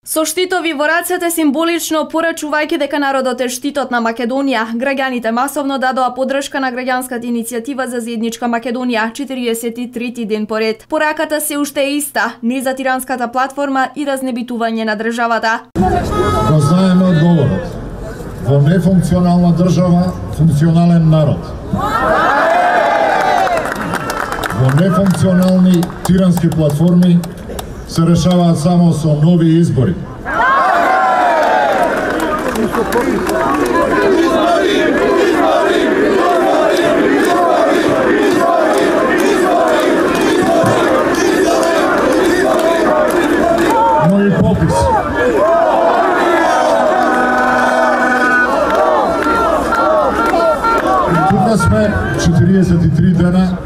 Со штитови во рацете символично порачувајќи дека народот е штитот на Македонија, граѓаните масовно дадоа поддршка на граѓанската иницијатива за заедничка Македонија 43 ден поред. Пораката се уште е иста: не за тиранската платформа и разнебитување на државата. Го знаеме одговорот. Во нефункционална држава, функционален народ. Во нефункционални тирански платформи се решаваат само со нови избори. Нови попис. Тука сме 43 дена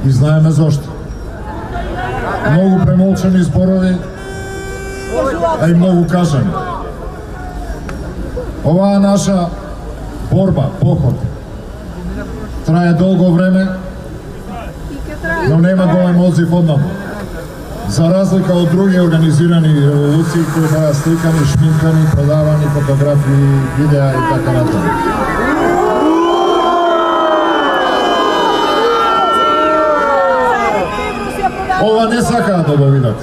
и знаеме зошто. Многу премолчани зборови, а и многу кажани. Оваа наша борба, поход, трае долго време, но нема голем одзив однапад. За разлика од други организирани револуции кои беа сликани, шминкани, продавани фотографии, видеа и така натаму. Ова не сакаат да го видат.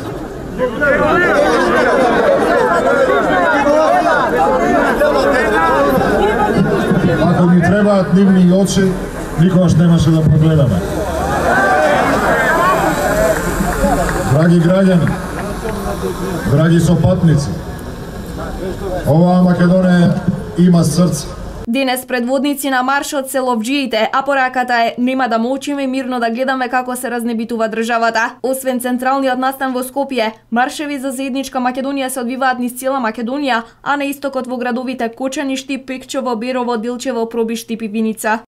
Ако ни требаат нивни очи, никогаш немаше да прогледаме. Драги граѓани, драги сопатници, оваа Македонија има срце. Денес предводници на маршот се ловџиите, а пораката е: нема да молчиме, мирно да гледаме како се разнебитува државата. Освен централниот настан во Скопје, маршеви за заедничка Македонија се одвиваат низ цела Македонија, а на истокот во градовите Кочани, Штип, Пекчево, Берово, Делчево, Пробиш, Штип и Виница.